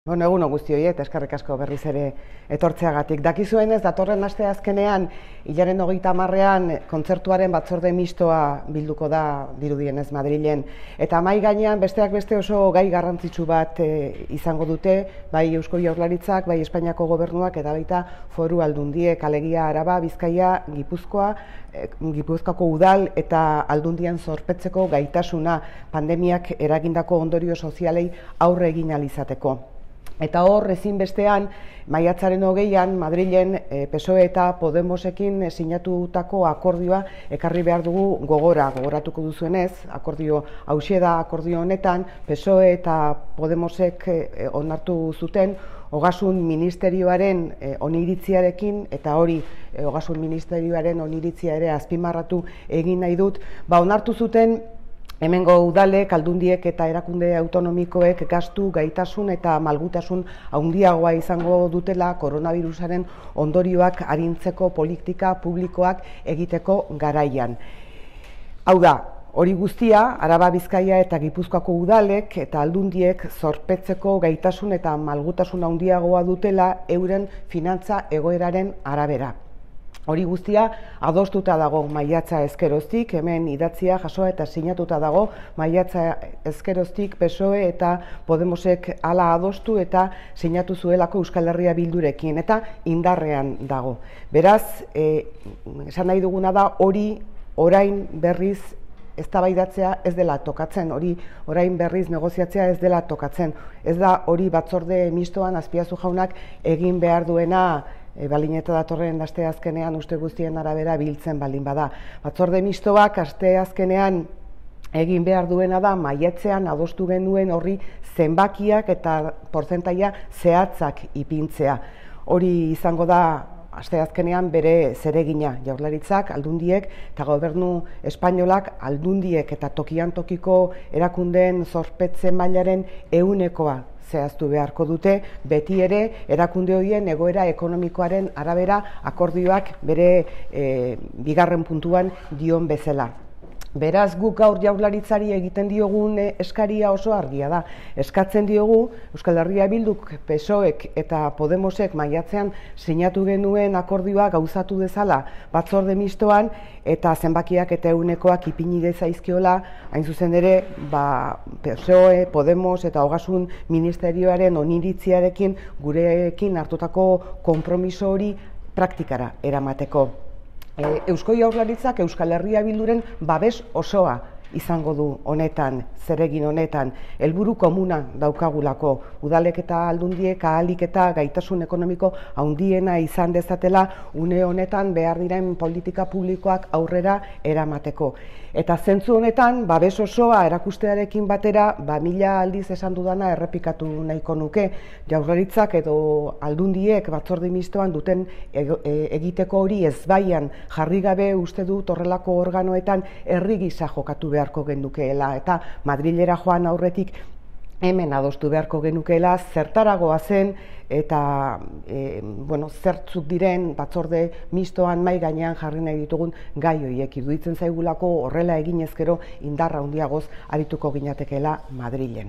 Bueno, egun on guztioi eta eskerrik asko berriz ere etortzeagatik. Dakizuenez, datorren aste azkenean, hilaren 30ean kontzertuaren batzorde mistoa bilduko da dirudienez Madrilen. Eta mahai gainean besteak beste oso gai garrantzitsu bat izango dute, bai Eusko Jaurlaritzak, bai Espainiako gobernuak eta baita Foru Aldundiek, alegia Araba, Bizkaia, Gipuzkoako udal eta aldundien zorpetzeko gaitasuna pandemiak eragindako ondorio sozialei aurre egin ahal izateko. Eta hor, ezinbestean, maiatzaren 20ean, Madrilen PSOE eta Podemosekin sinatutako akordioa ekarri behar dugu gogoratuko duzuenez, akordio hauxe da akordio honetan, PSOE eta Podemosek onartu zuten Ogasun Ministerioaren oniritziarekin, eta hori Ogasun Ministerioaren oniritzia ere azpimarratu egin nahi dut, onartu zuten hemengo udalek, aldundiek eta erakunde autonomikoek gastu, gaitasun eta malgutasun handiagoa izango dutela koronavirusaren ondorioak arintzeko politika publikoak egiteko garaian. Hau da, hori guztia, Araba, Bizkaia eta Gipuzkoako udalek eta aldundiek zorpetzeko gaitasun eta malgutasun handiagoa dutela euren finantza egoeraren arabera. Hori guztia adostuta dago maiatza ezkeroztik, hemen idatzia jasoa eta sinatuta dago maiatza ezkeroztik PSOE eta Podemosek hala adostu eta sinatu zuelako Euskal Herria Bildurekin eta indarrean dago. Beraz, esan nahi duguna da hori orain berriz eztabaidatzea ez dela tokatzen, hori orain berriz negoziatzea ez dela tokatzen. Ez da hori batzorde mistoan Azpiazu jaunak egin behar duena balin eta datorren aste azkenean uste guztien arabera biltzen baldin bada. Batzorde mistoak aste azkenean egin behar duena da maiatzean adostu genuen horri zenbakiak eta portzentaia zehatzak ipintzea. Hori izango da aste azkenean bere zeregina, Jaurlaritzak, aldundiek eta gobernu espainolak aldundiek eta tokian tokiko erakundeen zorpetze mailaren 100% zehaztu beharko dute, beti ere erakunde horien egoera ekonomikoaren arabera akordioak bere bigarren puntuan dion bezala. Beraz, guk gaur Jaurlaritzari egiten diogun eskaria oso argia da. Eskatzen diogu Euskal Herria Bilduk, PSOEk eta Podemosek maiatzean sinatu genuen akordioa gauzatu dezala batzorde mistoan eta zenbakiak eta 100%ak ipini zaizkiola, hain zuzen ere, PSOE, Podemos eta Ogasun Ministerioaren oniritziarekin gurekin hartutako konpromiso hori praktikara eramateko. Eusko Jaurlaritzak Euskal Herria Bilduren babes osoa izango du honetan, zeregin honetan, helburu komuna daukagulako, udalek eta aldundiek ahalik eta gaitasun ekonomiko handiena izan dezatela une honetan behar diren politika publikoak aurrera eramateko. Eta zentzu honetan, babes osoa erakustearekin batera, 1000 aldiz esan dudana errepikatu nahiko nuke, Jaurlaritzak edo aldundiek batzorde mistoan duten egiteko hori ezbaian jarri gabe uste dut horrelako organoetan herri gisa jokatu beharko genukeela eta Madrilera joan aurretik hemen adostu beharko genukeela zertaragoa zen eta zertzuk diren batzorde mistoan mahai gainean jarri nahi ditugun gai horiek iruditzen zaigulako horrela egin ezkero indarra handiagoz arituko ginatekeela Madrilen.